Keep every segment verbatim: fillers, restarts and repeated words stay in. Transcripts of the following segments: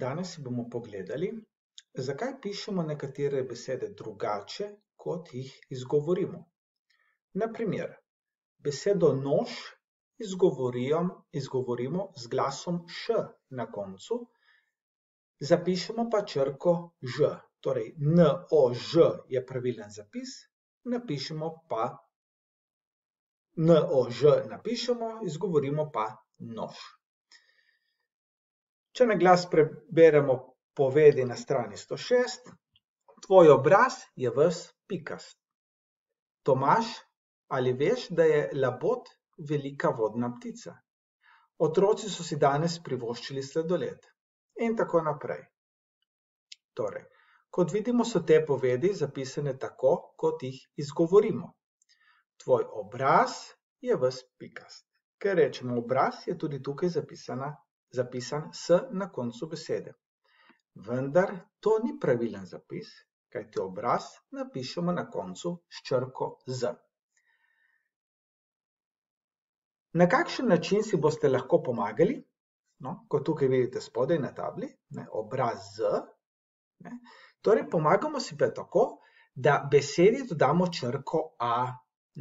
Danes si bomo pogledali, zakaj pišemo nekatere besede drugače, kot jih izgovorimo. Na primer, besedo nož izgovorimo z glasom š na koncu, zapišemo pa črko ž, torej nož je pravilen zapis, napišemo pa nož napišemo, izgovorimo pa nož. Če na glas preberemo povedi na strani sto šest, tvoj obraz je ves pikast. Tomaž, ali veš, da je labod velika vodna ptica? Otroci so si danes privoščili sladoled. In tako naprej. Torej, kot vidimo, so te povedi zapisane tako, kot jih izgovorimo. Tvoj obraz je ves pikast. Ker rečemo obraz, je tudi tukaj zapisana, zapisan s na koncu besede. Vendar to ni pravilen zapis, kajti obraz napišemo na koncu s črko z. Na kakšen način si boste lahko pomagali? No, kot tukaj vidite spodaj na tabli, ne, obraz z. Ne, torej, pomagamo si pa tako, da besedi dodamo črko a,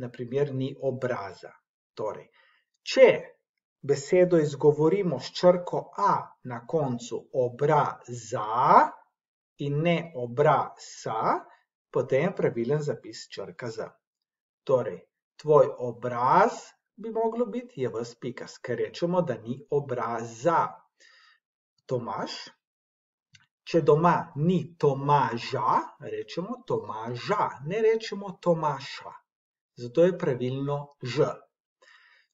na primer ni obraza. Torej, če besedo izgovorimo s črko a na koncu obraza in ne obrasa, potem je pravilen zapis črka z. Torej, tvoj obraz bi moglo biti je ves pikast, ker rečemo, da ni obraza. Tomaž, če doma ni Tomaža, rečemo Tomaža, ne rečemo Tomaša. Zato je pravilno ž.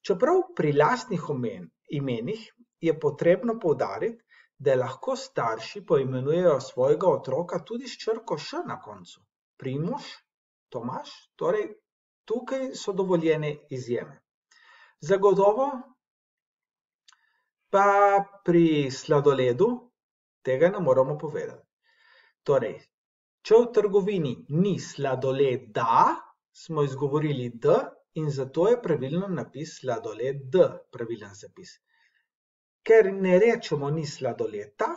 Čeprav pri lastnih imenih je potrebno poudariti, da lahko starši poimenujejo svojega otroka tudi s črko š na koncu. Primož, Tomaž, torej tukaj so dovoljene izjeme. Zagotovo pa pri sladoledu tega ne moramo povedati. Torej, če v trgovini ni sladoleda, smo izgovorili d in zato je pravilen napis sladoled d, pravilen zapis. Ker ne rečemo ni sladoleta,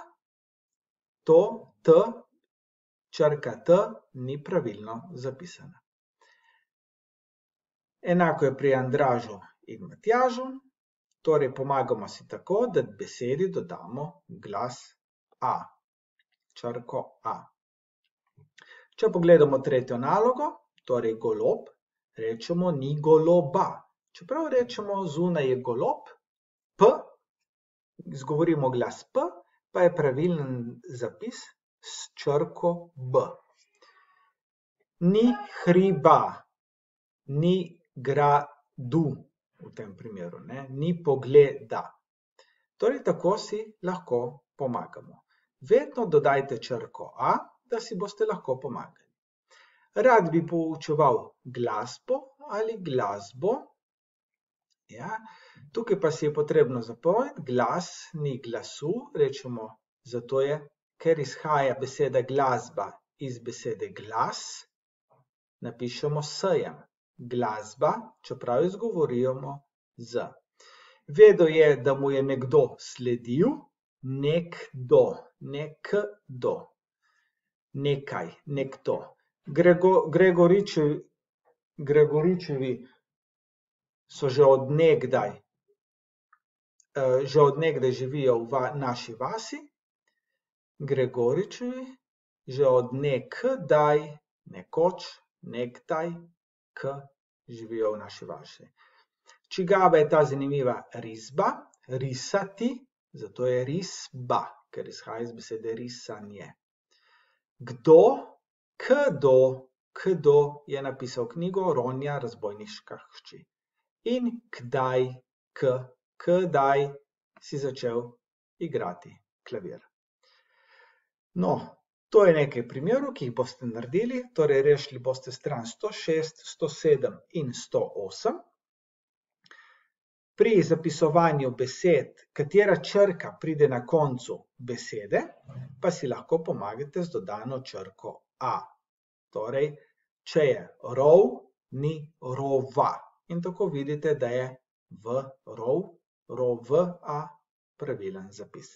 to t, črka t, ni pravilno zapisana. Enako je pri Andražu in Matjažu, torej pomagamo si tako, da besedi dodamo glas a, črko a. Če pogledamo tretjo nalogo, torej golob, rečemo ni goloba. Čeprav rečemo zunaj je golob, p, izgovorimo glas p, pa je pravilen zapis s črko b. Ni hriba, ni gradu v tem primeru, ne? Ni pogleda. Torej, tako si lahko pomagamo. Vedno dodajte črko a, da si boste lahko pomagali. Rad bi poučeval glasbo ali glasbo. Ja, tukaj pa si je potrebno zapomniti, glas ni glasu, rečemo, zato je, ker izhaja beseda glasba iz besede glas, napišemo s-jem. Glasba, čeprav izgovorimo z. Vedel je, da mu je nekdo sledil, nekdo, nekdo, nekaj, nekdo. Gregoričevi, Gregoričevi so že od nekdaj, že od nekdaj živijo v naši vasi, Gregoričevi že od nekdaj, nekoč, nekdaj, k živijo v naši vasi. Čigava je ta zanimiva risba? Risati, zato je risba, ker izhaja iz besede risanje. Kdo? Kdo, kdo je napisal knjigo Ronja razbojniška hči. In kdaj, k, kdaj si začel igrati klavir. No, to je nekaj primerov, ki jih boste naredili, torej rešili boste stran sto šest, sto sedem in sto osem. Pri zapisovanju besed, katera črka pride na koncu besede, pa si lahko pomagate z dodano črko a. Torej, če je rov, ni rova. In tako vidite, da je v rov, rova pravilen zapis.